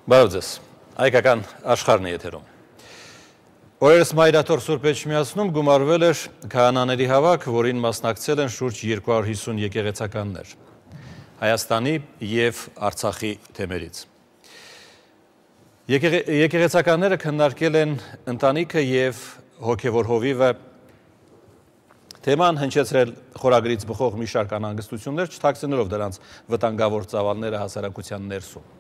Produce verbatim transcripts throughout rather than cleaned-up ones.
Բարև ձեզ, հայկական աշխարհն է եթերում։ Օրերս Մայրաթոր Սուրբ Էջմիածնում գումարվել էր քահանաների հավաք, որին մասնակցել են շուրջ երկու հարյուր հիսուն եկեղեցականներ Հայաստանի և Արցախի թեմերից։ Եկեղեցականները քննարկել են ընտանիքը և հոգևոր հովիվը, թեման հնչեցրել խորագրից բխող մի շարք անհանգստություններ, չթաքցնելով դրանց վտանգավոր ծավալները հասարակության ներսում։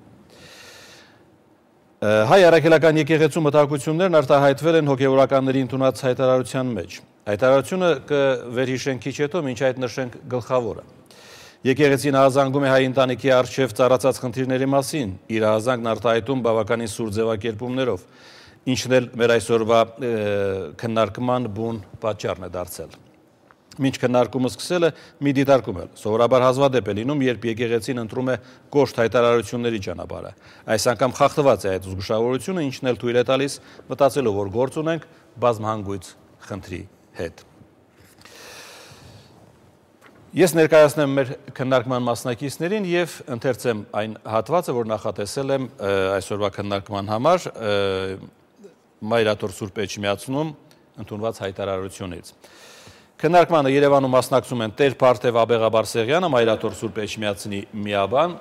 Հայ առաքելական եկեղեցու մտահոգություններն արտահայտվել են հոգևորականների ընդունած հայտարարության մեջ։ Հայտարարությունը կվերհիշենք քիչ հետո, մինչ այդ նշենք գլխավորը։ Եկեղեցին ահազանգում է հայ ընտանիքի առջև ծառացած խնդիրների մասին, իր ահազանգն արտահայտում բավականին սուր ձևակերպումներով, ինչն էլ մեր այսօրվա քննարկման բուն պատճառն է դարձել։ Մինչ քննարկումը սկսելը մի դիտարկում է սովորաբար հազվադեպ է լինում, երբ եկեղեցին ընտրում է կոշտ հայտարարությունների ճանապարհը։ Այս անգամ խախտված է այդ զգուշավորությունը, ինչն էլ թույլ է տալիս մտածելով, որ գործ ունենք բազմահանգույց խնդրի հետ։ Ես ներկայացնեմ մեր քննարկման մասնակիցներին և ընթերցեմ այն հատվածը, որ նախատեսել եմ այսօրվա քննարկման համար Մայրաթոր Սուրբ Էջմիածնում ընդունված հայտարարությունից։ Քննարկմանը Երևանում մասնակցում են Տեր Փարթև Աբեղաբարսեղյանը, Մայրաթոր Սուրբ Էջմիածնի միաբան,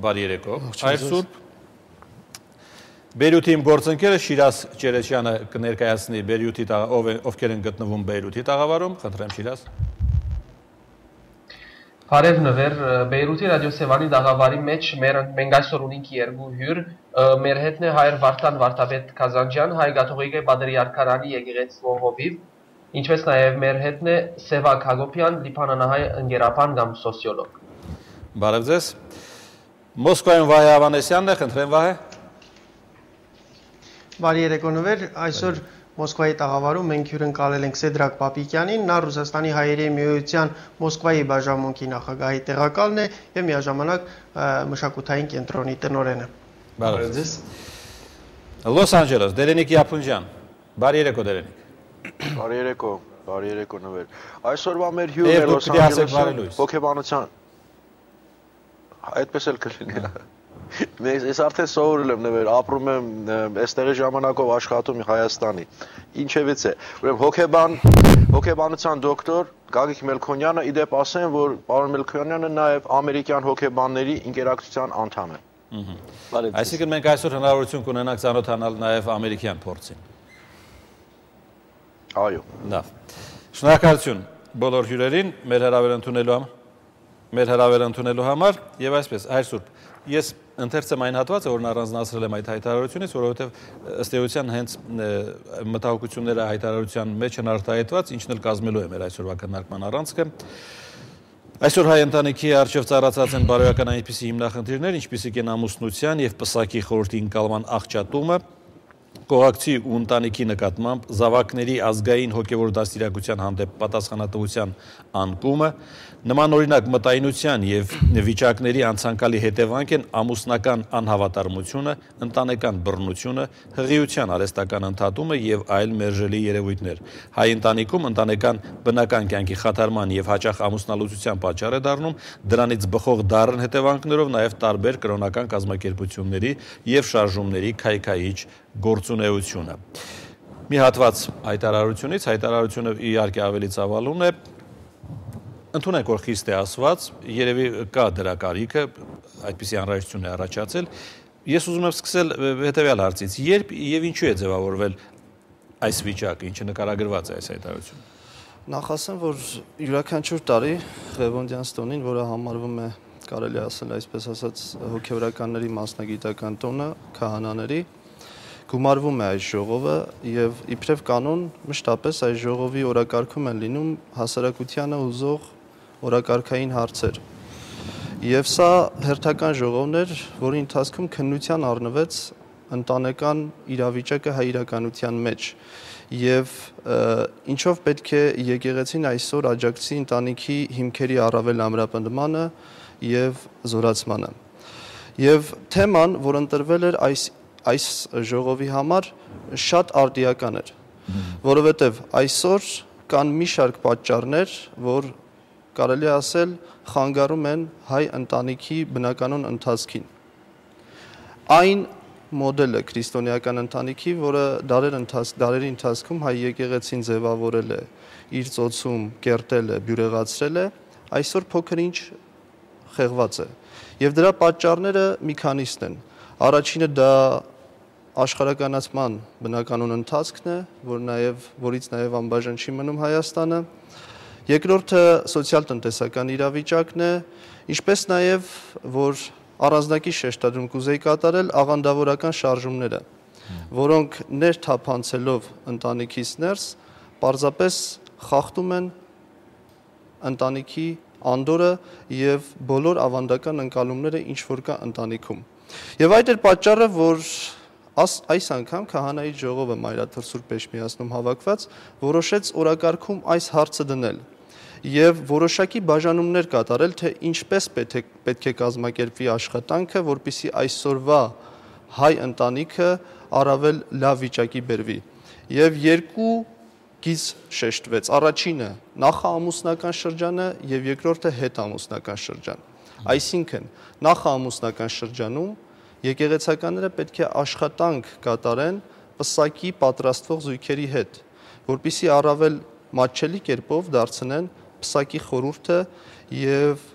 բարի երեկո, Հայր Սուրբ։ Բեյրութի իմ գործընկերը Շիրազ Ճերեչյանը կներկայացնի Բեյրութի, ովքեր են գտնվում Բեյրութի տաղավարում, խնդրեմ Շիրազ։ Բարև նվեր, Բեյրութի ռադիոսևանի տաղավարի մեջ մենք այսօր ունենք երկու հյուր, մեր հետն է Հայր Վարդան Վարդապետ Քազանջյան, Հայ կաթողիկե Պատրիարքարանի եկեղեցու հովիվ, ինչպես նաև մեր հետն է Սևակ Հակոբյան, լիբանանահայ ընկերապան կամ սոցիոլոգ։ Բարև ձեզ։ Մոսկվայում Վահե Ավանեսյանն է, խնդրեմ Վահե։ Բարի երեկո նվեր, այսօր Մոսկվայի տաղավարում մենք հյուրընկալել ենք Սեդրակ Պապիկյանին, նա Ռուսաստանի հայերի միության Մոսկվայի բաժանմունքի նախագահի տեղակալն է և միաժամանակ մշակութային կենտրոնի տնօրենը։ Բարև ձեզ։ Լոս Անջելես, Դերենիկ Յափունջյան, բարի երեկո Դերենիկ։ Բարի երեկո, բարի երեկո նվեր։ Այսօրվա մեր հյուրն է Լոս Անջելեսում հոգեբանության։ Այդպես էլ կլինի։ Ես արդեն սովորել եմ նվեր, ապրում եմ այստեղի ժամանակով աշխատում Հայաստանի։ Ինչևից է, ուրեմն հոգեբան, հոգեբանության դոկտոր Գագիկ Մելքոնյանը, իդեպ ասեմ, որ պարոն Մելքոնյանը նաև ամերիկյան հոգեբանների ընկերակցության անդամ է։ Այսինքն մենք այսօր հնարավորություն կունենանք ծանոթանալ նաև ամերիկյան փորձին։ Այո։ Լավ։ Շնորհակալություն բոլոր հյուրերին մեր հրավեր ընդունելու համար, մեր հրավեր ընդունելու համար եւ այսպես, Հայր Սուրբ, ես ընթերցեմ այն հատվածը, որն առանձնացրել եմ այդ հայտարարությունից, որովհետև ըստ էության հենց մտահոգությունները հայտարարության մեջ են արտահայտված, ինչն էլ կազմելու է մեր այսօրվա քննարկման առանցքը։ Այսօր հայ ընտանիքի առջև ծառացած են բարոյական այնպիսի հիմնախնդիրներ, ինչպիսիք են ամուսնության եւ պսակի խորհրդի ընկալման աղճատումը, կողակցի ու ընտանիքի նկատմամբ զավակների ազգային հոգևոր դաստիարակության հանդեպ պատասխանատվության անկումը, նմանօրինակ մտայնության եւ վիճակների անցանկալի հետևանք են ամուսնական անհավատարմությունը, ընտանեկան բռնությունը, հղիության արհեստական ընդհատումը եւ այլ մերժելի երևույթներ։ Հայ ընտանիքում ընտանեկան բնական կյանքի խաթարման եւ հաճախ ամուսնալուծության պատճառ է դառնում, դրանից բխող դառն հետևանքներով նաեւ տարբեր կրոնական կազմակերպությունների եւ շարժումների քայքայիչ գործունեությունը։ Մի հատված հայտարարությունից, հայտարարությունը իհարկե ավելի ծավալուն է, ընդունենք, որ խիստ է ասված, երևի կա դրա կարիքը, այդպիսի անհրաժեշտություն է առաջացել։ Ես ուզում եմ սկսել հետևյալ հարցից, երբ եւ ինչու է ձևավորվել այս վիճակը, ինչը նկարագրված է այս հայտարարությունում։ Նախ ասեմ, որ յուրաքանչյուր տարի Ղևոնդյան տոնին, որը համարվում է, կարելի ասել այսպես ասած, հոգևորականների մասնագիտական տոնը, քահանաների, գումարվում է այս ժողովը եւ իբրև կանոն մշտապես այս ժողովի օրակարգում են լինում հասարակությանը հուզող օրակարգային հարցեր։ Եվ սա հերթական ժողովն էր, որի ընթացքում քննության առնվեց ընտանեկան իրավիճակը հայ իրականության մեջ եւ ինչով պետք է եկեղեցին այսօր աջակցի ընտանիքի հիմքերի առավել ամրապնդմանը եւ զորացմանը։ Եվ թեման, որ ընտրվել էր այս այս ժողովի համար շատ արդիական էր, որովհետև այսօր կան մի շարք պատճառներ, որ կարելի ասել խանգարում են հայ ընտանիքի բնականոն ընթացքին։ Այն մոդելը քրիստոնեական ընտանիքի, որը դարեր ընթաց, դարերի ընթացքում հայ եկեղեցին ձևավորել է, իր ծոցում կերտել է, բյուրեղացրել է, այսօր փոքր-ինչ խեղված է։ Եվ դրա պատճառները մի քանիսն են։ Առաջինը դա աշխարհականացման բնականon ընթացքն է, որ նաև որից նաև անբաժան չի մնում Հայաստանը։ Երկրորդը սոցիալ-տնտեսական իրավիճակն է, ինչպես նաև որ առանձնակի շեշտադրում կուզեի կատարել աղանդավորական շարժումները, որոնք ներթափանցելով ընտանիքից ներս պարզապես խախտում են ընտանիքի անդորը եւ բոլոր ավանդական ընկալումները, ինչ որ կա ընտանիքում։ Եվ այդ էր պատճառը, որ Աս, այս անգամ քահանայի ժողովը Մայրաթոր Սուրբ Էջմիածնում հավաքված որոշեց օրակարգում այս հարցը դնել եւ որոշակի բաժանումներ կատարել, թե ինչպես պետք է, պետք է կազմակերպվի աշխատանքը, որպեսզի այսօրվա հայ ընտանիքը առավել լավ վիճակի բերվի։ Եվ երկու գիծ շեշտվեց. առաջինը նախաամուսնական շրջանը եւ երկրորդը հետամուսնական շրջան։ Այսինքն նախաամուսնական շրջանում եկեղեցականները պետք է աշխատանք կատարեն պսակի պատրաստվող զույգերի հետ, որպեսզի առավել մատչելի կերպով դարձնեն պսակի խորհուրդը եւ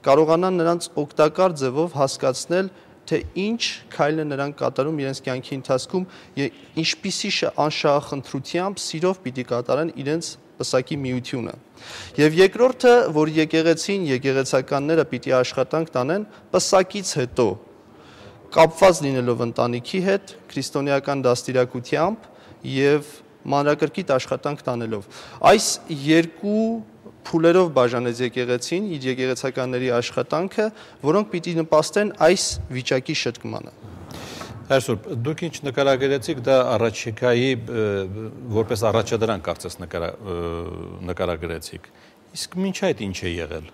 կարողանան նրանց օգտակար ձևով հասկացնել, թե ինչ քայլն է նրանք կատարում իրենց կյանքի ընթացքում եւ ինչպիսի անշահախնդրությամբ սիրով պիտի կատարեն իրենց պսակի միությունը։ Եվ երկրորդը, որ եկեղեցին, եկեղեցականները պիտի աշխատանք տանեն պսակից հետո կապված լինելով ընտանիքի հետ, քրիստոնեական դաստիարակությամբ եւ մանրակրկիտ աշխատանք տանելով։ Այս երկու փուլերով բաժանեց եկեղեցին իր եկեղեցականների աշխատանքը, որոնք պիտի նպաստեն այս վիճակի շտկմանը։ Հայր Սուրբ, դուք ինչ նկարագրեցիք, դա առաջիկայի որպես առաջադրանք կարծես նկարագրեցիք։ Իսկ մինչ այդ ինչ է եղել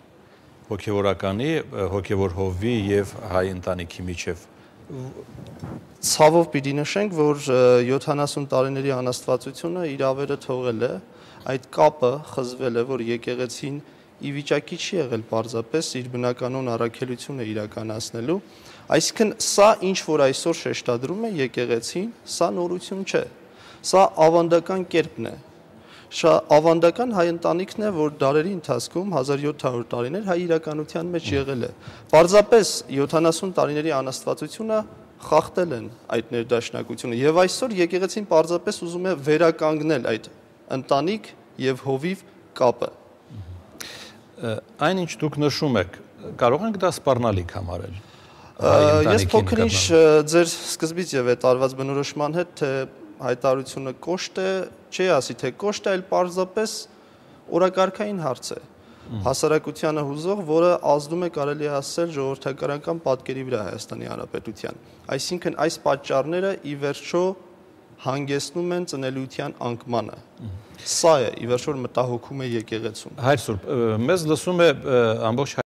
հոգևորականի, հոգևոր հովվի եւ հայ ընտանիքի միջև։ Ցավով պիտի նշենք, որ յոթանասուն տարիների անաստվածությունը իր ավերը թողել է, այդ կապը խզվել է, որ եկեղեցին ի վիճակի չի եղել պարզապես իր բնականon առաքելությունը իրականացնելու, այսինքն սա ինչ որ այսօր շեշտադրում է եկեղեցին, սա նորություն չէ, սա ավանդական կերպն է, շա ավանդական հայ ընտանիքն է, որ դարերի ընթացքում հազար յոթ հարյուր տարիներ հայ իրականության մեջ եղել է։ Պարզապես յոթանասուն տարիների անաստվածությունը խախտել են այդ ներդաշնակությունը եւ այսօր եկեղեցին պարզապես ուզում է վերականգնել այդ ընտանիք եւ հովիվ կապը։ Այն ինչ դուք նշում եք, կարող ենք դա սպառնալիք համարել։ Ես փոքր-ինչ ձեր սկզբից եւ այդ արված բնորոշման հետ, թե հայտարարությունը կոշտ է, չի ասի թե կոշտ է, այլ պարզապես օրակարգային հարց է։ Հասարակությանը հուզող, որը ազդում է կարելի ասել ժողովրդականական պատկերի վրա Հայաստանի Հանրապետության։ Այսինքն այս պատճառները ի վերջո հանգեցնում են ծնելիության անկմանը։ Սա է ի վերջո մտահոգում է եկեղեցուն։ Հայր Սուրբ, մեզ լսում է ամբողջ